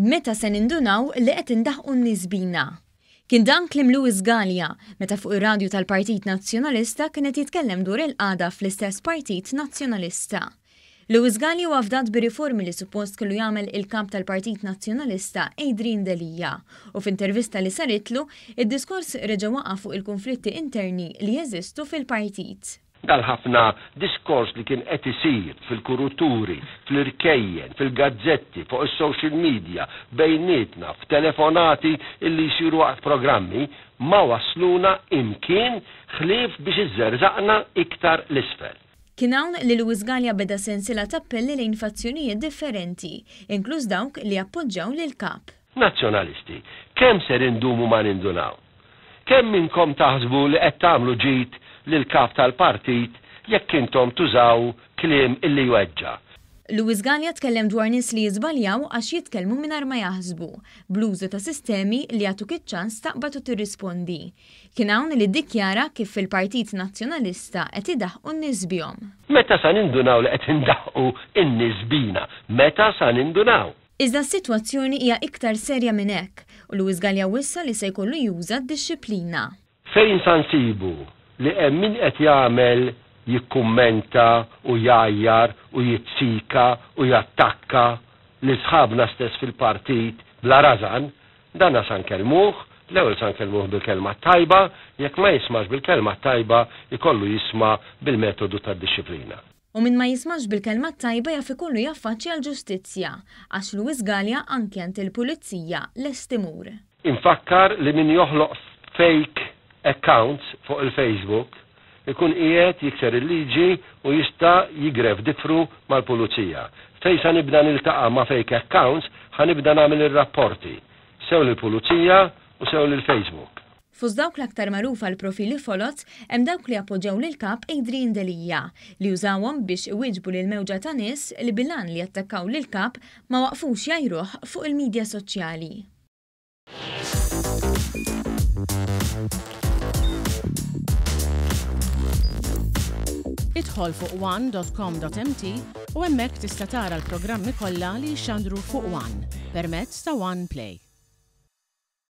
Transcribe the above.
Meta se nindunaw li qed indaħħqu n-nies bina? Kien dan kliem Louis Galea meta fuq ir-radju tal-Partit Nazzjonalista kien qed jitkellem dwar il-qagħda fl-istess Partit Nazzjonalista. Louis Galea huwa fdat bir-riformi li suppost kellu jagħmel il-Kap tal-Partit Nazzjonalista Adrian Delia u f'intervista li saritlu, id-diskors reġa' waqa' fuq il-kunflitti interni li jeżistu fil-partit. Dal-ħafna diskors li kien qed isir fil-kuruturi, fl-irkejjen, fil-gazzetti, fuq is-social media, bejnietna, f'telefonati illi jsiru waqt programmi, ma wassluna imkien ħlief biex iżżerżaqna iktar 'l isfel. Kien hawn li Louis Galea beda sensiela t'appelli lejn fazzjonijiet differenti, inkluż dawk li jappoġġjaw lill-Kap. Nazzjonalisti, kemm ser indumu ma nindunaw? Kemm minnkom taħsbu li qed tagħmlu ġid lill-Kap tal-Partit jekk intom tużaw kliem illi jweġġa'? Louis Galea tkellem dwar nies li jiżbaljaw għax jitkellmu mingħajr ma jaħsbu, bl-użu ta' sistemi li jagħtuk iċ-ċans taqbad u tirrispondi. Kien hawn li ddikjara kif fil-Partit Nazzjonalista qed idaħħqu n-nies bihom. Meta sa nindunaw li qed indaħħqu n-nies bina? Meta sa nindunaw? Iżda s-sitwazzjoni hija iktar serja minn hekk u Louis Galea wissa li se jkollu juża d-dixxiplina. Fejn sa nsibu li hemm min qed jagħmel jikkummenta u jgħajjar u jizzika u jattakka lil sħabna stess fil-partit bla rażan, dana sa nkellmuh, l-ewwel sa nkellmuh bil-kelma t-tajba, jekk ma jismax bil-kelma t-tajba jkollu jisma' bil-metodu tad-dixxiplina. U min ma jismax bil-kelma t-tajba jaf ikollu jaffaċċja l-ġustizzja, għax Louis Galea anki għand il-Pulizija lest imur. Infakkar li min joħloq fake accounts fuq il-Facebook ikun qiegħed jikser il-liġi u jista' jigref difru mal-Pulizija. Fejn sa nibda niltaqa' ma' fake accounts ħa nibda nagħmel ir-rapporti, sew lill-Pulizija u sew lill-Facebook. Fost dawk l-aktar magħrufa għall-profili foloz hemm dawk li appoġġjaw lill-Kap Adrian Delia, li użawhom biex iwieġbu lil mewġa ta' nies li bil-għan li jattakkaw lill-Kap ma waqfux jgħajruh fuq il-midja soċjali. Idħol fuq one dot com dot mt u hemmhekk tista' tara l-programmi kollha li jixxandru fuq one permezz ta' One Play.